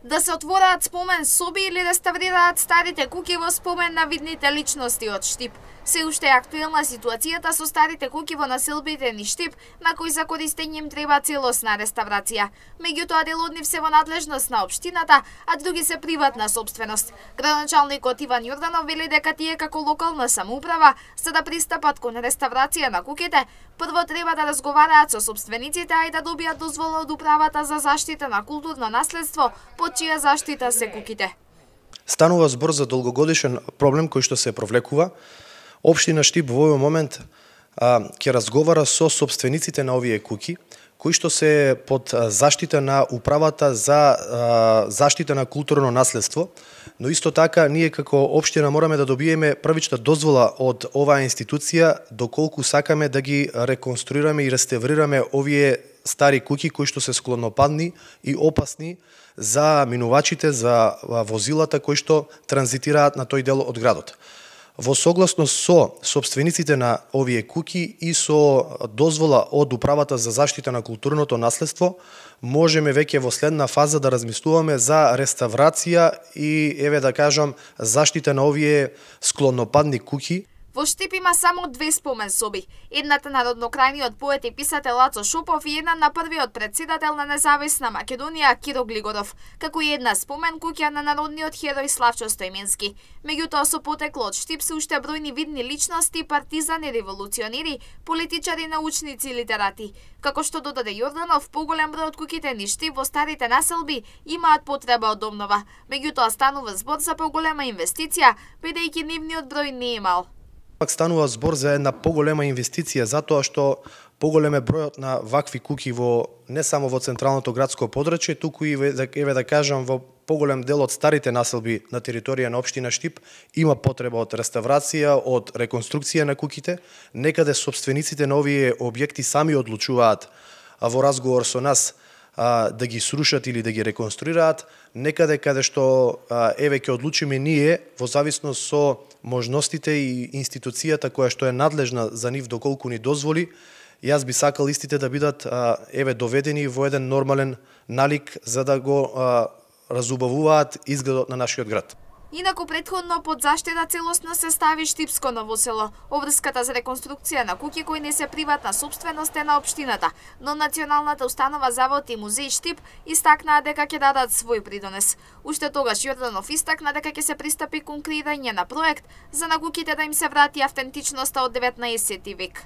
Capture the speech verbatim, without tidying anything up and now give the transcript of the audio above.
Да се отвораат спомен соби или реставрираат старите куќи во спомен на видните личности од Штип. Се уште е актуелна ситуацијата со старите куќи во населбите ни Штип, на кои за користење им треба целосна реставрација. Меѓутоа дел од нив се во надлежност на општината, а други се приватна сопственост. Градоначалникот Иван Јорданов вели дека тие како локална самоуправа, за да пристапат кон реставрација на куќите, прво треба да разговараат со сопствениците, а и да добијат дозвола од управата за заштита на културно наследство, под чија заштита се куќите. Станува збор за долгогодишен проблем кој што се провлекува. Општина Штип во овој момент а, ќе разговара со сопствениците на овие куќи, кои што се под заштита на управата за а, заштита на културно наследство, но исто така ние како општина мораме да добиеме првична дозвола од оваа институција доколку сакаме да ги реконструираме и реставрираме овие стари куќи кои што се склонопадни и опасни за минувачите, за возилата кои што транзитираат на тој дел од градот. Во согласност со сопствениците на овие куќи и со дозвола од управата за заштита на културното наследство, можеме веќе во следна фаза да размислуваме за реставрација и, еве да кажам, заштита на овие склонопадни куќи. Во Штип има само две спомен соби. Едната на роднокрајниот поет и писател Лацо Шопов и една на првиот претседател на независна Македонија Киро Глигоров, како и една спомен куќа на народниот херој Славчо Стојменски. Меѓутоа со потекло од Штип се уште бројни видни личности, партизани, револуционери, политичари, научници и литерати. Како што додаде Јорданов, поголем број од куќите ни Штип во старите населби имаат потреба од обнова. Меѓутоа станува збор за поголема инвестиција, бидејќи нивниот број не е мал. Пак станува збор за една поголема инвестиција, затоа што поголем е бројот на вакви куќи во не само во централното градско подрачје, туку и еве да кажам во поголем дел од старите населби на територија на општина Штип има потреба од реставрација, од реконструкција на куќите. Некаде сопствениците на овие објекти сами одлучуваат во разговор со нас да ги срушат или да ги реконструираат, некаде каде што еве ќе одлучиме ние во зависност со можностите и институцијата која што е надлежна за нив доколку ни дозволи. Јас би сакал истите да бидат еве доведени во еден нормален налик за да го разубавуваат изгледот на нашиот град. Инаку претходно под заштита целосно се стави Штипско Ново село. Обврската за реконструкција на куќи кои не се приватна сопственост е на општината, но Националната установа Завод и музеј Штип истакнаа дека ќе дадат свој придонес. Уште тогаш Јорданов истакна дека ќе се пристапи кон креирање на проект за на куќите да им се врати автентичноста од деветнаесети век.